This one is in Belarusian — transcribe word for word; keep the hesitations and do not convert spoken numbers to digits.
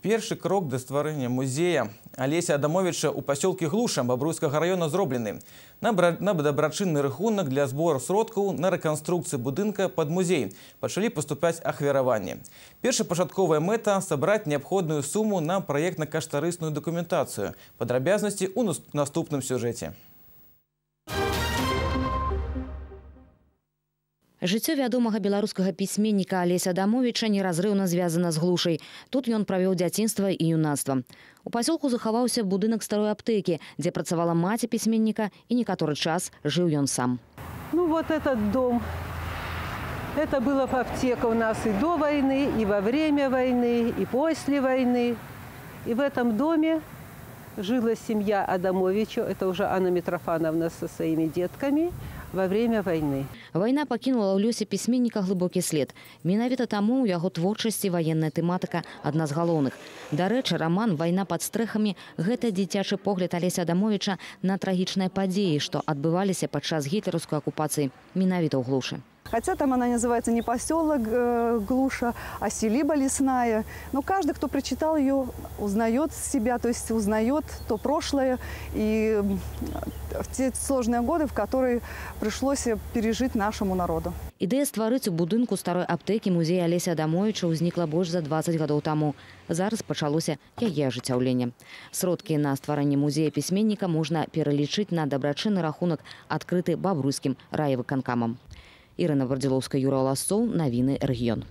Першы крок да стварэння музея Алеся Адамовича ў пасёлкі Глуша Бабруйскага района зроблены. На дабрачынны рахунак для збору сродкаў на рэканструкцыю будынка пад музей пачалі паступаць ахвяраванні. Першапачатковая мэта – сабраць неабходную суму на праектна-каштарысную дакументацыю. Падрабязнасці ў наступным сюжэце. Жыццё вядомага беларускага пісьменніка Алеся Адамовича неразрыўна звязана з Глушай. Тут ён правёў дзяцінства і юнацтва. У пасёлку захаваўся будынак старой аптэкі, дзе працавала маці пісьменніка, і некаторы час жыў ён сам. Ну вот этот дом. Это была аптека у нас и до войны, и во время войны, и после войны. И в этом доме жила семья Адамовича, это уже Анна Митрофановна со своими детками, во время войны. Вайна пакінула ў лёсе пісьменніка глыбокі след. Менавіта таму ў яго творчасці ваенная тэматыка адна з галоўных. Дарэчы, раман «Вайна пад стрэхамі» – гэта дзіцячы погляд Алеся Адамовича на трагічныя падзеі, што адбываліся падчас гітлераўскай акупацыі менавіта ў Глушы. Хотя там она называется не поселок э, Глуша, а селиба лесная. Но каждый, кто прочитал ее, узнает себя, то есть узнает то прошлое и те сложные годы, в которые пришлось пережить нашему народу. Ідэя стварыць у будынку старой аптэкі музея Алеся Адамовича ўзнікла больш за дваццаць гадоў таму. Зараз пачалося яе ажыццяўленне. Сродкі на стварэнне музея пісьменніка можна пералічыць на дабрачынны рахунак, адкрыты Бабруйскім райвыканкамам. Ірына Вардзілоўская, Юра Ласцоў, навіны рэгіён.